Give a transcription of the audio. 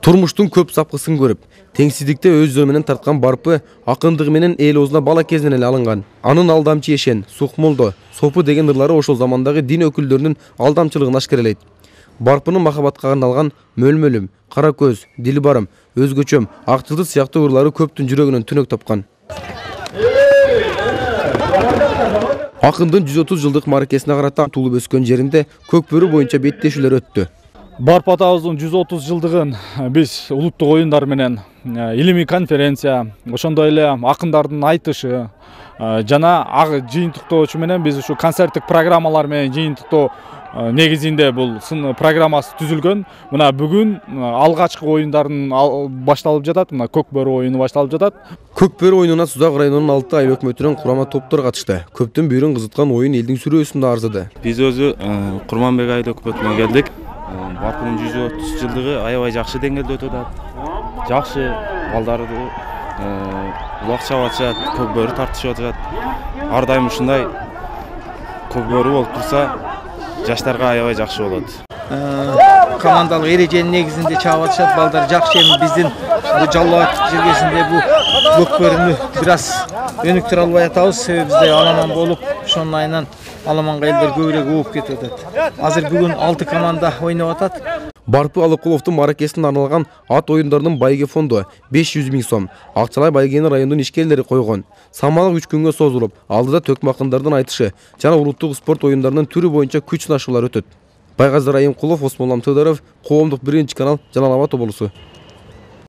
Турмуштун көп сапкысын көрүп, теңсиздикте өз жөө менен тарткан Барпы акындыгы менен эл оозуна бала кезинен эле алынган. Анын алдамчы Эшен, Сукмолдо, Сопу деген ырлары ошол замандагы дин өкүлдөрүнүн алдамчылыгын ашкерелейт. Барпынын махабатка арналган Мөлмөлүм, Кара көз, Дилбарым, Өзгөчөм, Ак жылдыз сыяктуу ырлары көптүн жүрөгүнөн түнөк тапкан. Акындын 130 жылдык мааракесине карата туулуп өскөн жеринде Көкбөрү боюнча беттешүүлөр өттү. Барпы атабыздын 130 жылдыгын биз улуттук оюндар менен илимий конференция, ошондой эле акындардын айтышы жана жыйынтыктоочу менен биз ушу концерттик программалар менен жыйынтыктоо негизинде бул программасы түзүлгөн. Мына бүгүн алгачкы оюндардын башталып жатат. Мына Көкбөрү оюну башталып жатат. Көкбөрү оюнуна Сузак районунун 6 айыл өкмөтүнүн курама топтор катышты. Көптүн бүйүрүн кызыткан оюн элдин сүрөөсүндө арзыды. Биз өзү Курманбек айыл өкмөтүнөн келдик. Барпынын 130 жылдыгы аябай жакшы деңгээлде өтүп атат. Жакшы балдарды улак чабып атышат, көкбөрү тартышып атышат. Ар дайым ушундай көкбөрү болуп турса, жаштарга аябай жакшы болот. Командалык эреженин негизинде чабып атышат, балдар жакшы. Эми биздин бу Жалал Абад жергесинде бу көкбөрүнү бир аз өнүктүрө албай атабыз. Себеби бизде аламан болуп, ошонун айынан аламанга элдер көбүрөөк ууп кетип атат. Азыр бүгүн 6 команда ойноп атат. Барпы Алыкуловдун мааракесине арналган ат оюндарынын байге фонду 500 000 сом Акчалай Байгени районунун ишкерлери койгон. Самалык 3 күнгө созулуп, алдыда төкмө акындардын айтышы жана улуттук спорт оюндарынын түрү боюнча күч сынашуулар өтөт. Байгазы Райымкулов, Осмонлам Тыдыров, Коомдук 1 канал, Жалал Абад облусу.